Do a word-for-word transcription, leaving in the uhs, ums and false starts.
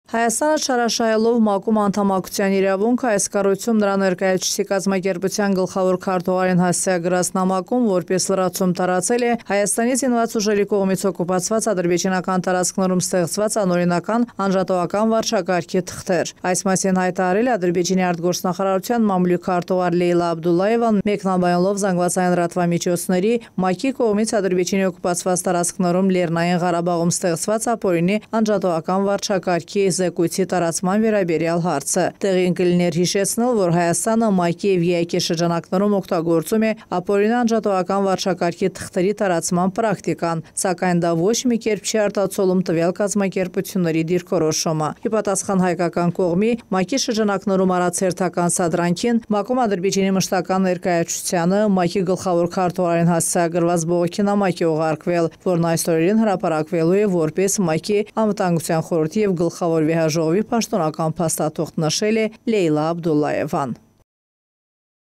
Հայաստանը չարաշահելով ՄԱԿ-ում անդամակցության իրավունքը, այս կառույցում նրա ներկայացուցիչ կազմակերպության գլխավոր քարտուղարին հասցեագրած նամակում որպես լրացում տարածել է Հայաստանից զինված ուժերի կողմից օկուպացված ադրբեջանական տարածքներում ստեղծված անօրինական անջատողական վարչակարգի թղթեր։ Այս մասին հայտարարել է Ադրբեջանի արտգործնախարարության մամլուք քարտուղար Լեյլա Աբդուլլայևան, մեկնաբանելով զանգվածային լրատվամիջոցների ՄԱԿ-ի կողմից Ադրբեջանի օկուպացված տարածքներում Լեռնային Ղարաբաղում ստեղծված ապօրինի անջատողական վարչակարգի զեկույցի տարածման վերաբերյալ հարցը։ Տեղին կլիներ հիշեցնել, որ Հայաստանը ՄԱԿ-ի և ԵԱՀԿ շրջանակներում օգտագործում է ապօրինի անջատողական վարչակարգի թղթերի տարածման պրակտիկան, սակայն դա ոչ մի կերպ չի արտացոլում տվյալ կազմակերպությունների դիրքորոշումը։ Ի պատասխան հայկական կողմի ՄԱԿ-ի շրջանակներում արած հերթական սադրանքին, ՄԱԿ-ում Ադրբեջանի մշտական ներկայացուցչությանը ՄԱԿ-ի գլխավոր քարտուղարին հասցեագրված բողոքի նամակ է ուղարկվել, որն այս օրերին հրապարակվելու է որպես ՄԱԿ-ի Անվտանգության խորհրդի և գլխավոր վեհաժողովի պաշտոնական փաստաթուղթ, նշել է Լեյլա Աբդուլլայևան։